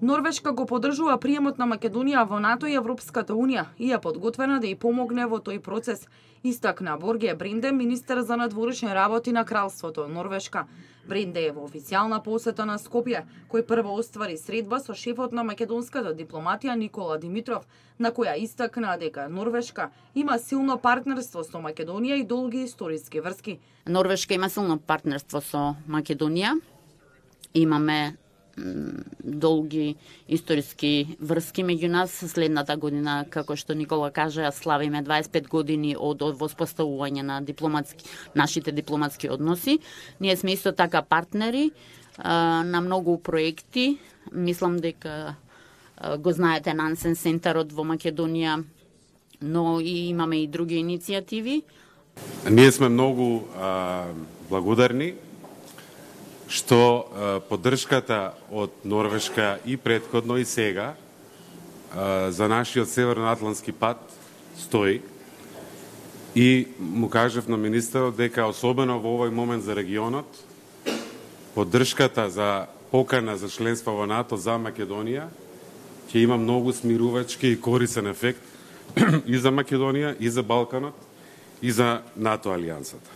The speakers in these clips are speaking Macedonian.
Норвешка го поддржува приемот на Македонија во НАТО и Европската Унија и е подготвена да ја помогне во тој процес, истакна Борге Бринде, министер за надворешни работи на Кралството Норвешка. Бринде е во официјална посета на Скопје, кој прво оствари средба со шефот на македонската дипломатија Никола Димитров, на која истакна дека Норвешка има силно партнерство со Македонија и долги историски врски. Норвешка има силно партнерство со Македонија. Имаме долги историски врски меѓу нас. Следната година, како што Никола кажа, славиме 25 години од воспоставување на нашите дипломатски односи. Ние сме исто така партнери на многу проекти. Мислам дека го знаете Нансен центарот во Македонија, но и имаме и други иницијативи. Ние сме многу благодарни што поддршката од Норвешка и претходно и сега за нашиот северноатлантски пат стои. И му кажав на министерот дека особено во овој момент за регионот поддршката за покана за членство во НАТО за Македонија ќе има многу смирувачки и корисен ефект и за Македонија, и за Балканот, и за НАТО алијансата.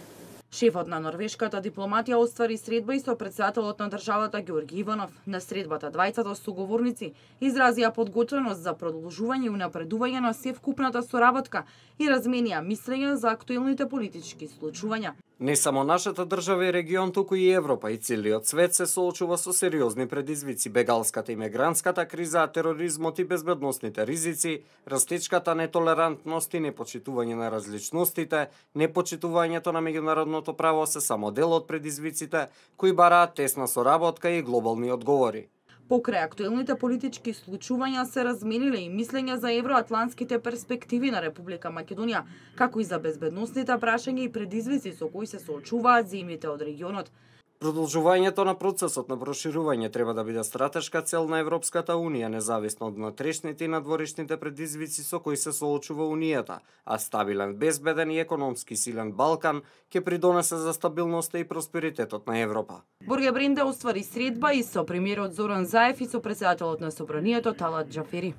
Шефот на норвешката дипломатија оствари средба и со претседателот на државата Ѓорги Иванов. На средбата двајцата соговорници изразија подготвеност за продолжување и унапредување на севкупната соработка и разменија мислења за актуелните политички случувања. Не само нашата држава и регион, туку и Европа и целиот свет се соочува со сериозни предизвици: бегалската и мигрантската криза, тероризмот и безбедносните ризици, растечката нетолерантност и непочитување на различностите, непочитувањето на меѓународното право се само дел од предизвиците кои бараат тесна соработка и глобални одговори. Покрај актуелните политички случувања се размениле и мислења за евроатлантските перспективи на Република Македонија, како и за безбедносните прашања и предизвици со кои се соочуваат земјите од регионот. Продолжувањето на процесот на проширување треба да биде стратешка цел на Европската Унија, независно од внатрешните и надворешните предизвици со кои се соочува Унијата, а стабилен, безбеден и економски силен Балкан ќе придонесе за стабилноста и просперитетот на Европа. Борге Бринде оствари средба и со премиерот Зоран Заев и со претседателот на Собранието Талат Џафери.